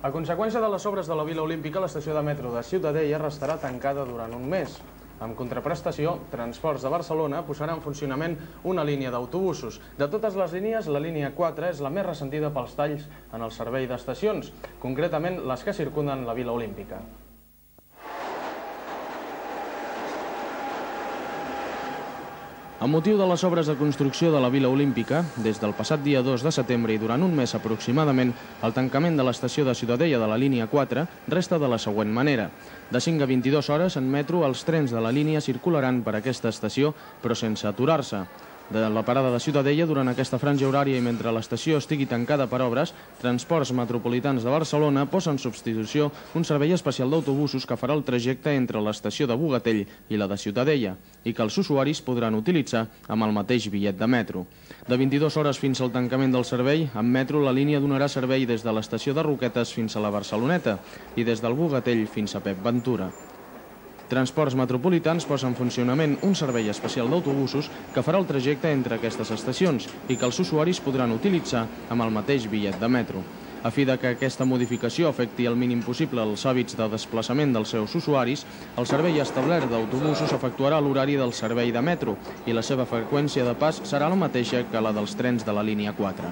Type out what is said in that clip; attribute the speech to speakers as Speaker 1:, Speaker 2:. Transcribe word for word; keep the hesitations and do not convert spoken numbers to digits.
Speaker 1: A conseqüència de les obres de la Vila Olímpica, l'estació de metro de Ciutadella restarà tancada durant un mes. En contraprestació, Transports de Barcelona posarà en funcionament una línia d'autobusos. De totes les línies, la línia quatre és la més ressentida pels talls en el servei d'estacions, concretament les que circunden la Vila Olímpica. Amb motiu de les obres de construcció de la Vila Olímpica, des del passat dia dos de setembre i durant un mes aproximadament, el tancament de l'estació de Ciutadella de la línia quatre resta de la següent manera. De cinc a vint-i-dues hores, en metro, els trens de la línia circularan per aquesta estació, però sense aturar-se. De la parada de Ciutadella, durant aquesta franja horària i mentre l'estació estigui tancada per obres, Transports Metropolitans de Barcelona posa en substitució un servei especial d'autobusos que farà el trajecte entre l'estació de Bogatell i la de Ciutadella i que els usuaris podran utilitzar amb el mateix bitllet de metro. De vint-i-dues hores fins al tancament del servei, amb metro la línia donarà servei des de l'estació de Roquetes fins a la Barceloneta i des del Bogatell fins a Pep Ventura. Transports Metropolitans posa en funcionament un servei especial d'autobusos que farà el trajecte entre aquestes estacions i que els usuaris podran utilitzar amb el mateix bitllet de metro. A fi de que aquesta modificació afecti el mínim possible els hàbits de desplaçament dels seus usuaris, el servei establert d'autobusos efectuarà l'horari del servei de metro i la seva freqüència de pas serà la mateixa que la dels trens de la línia quatre.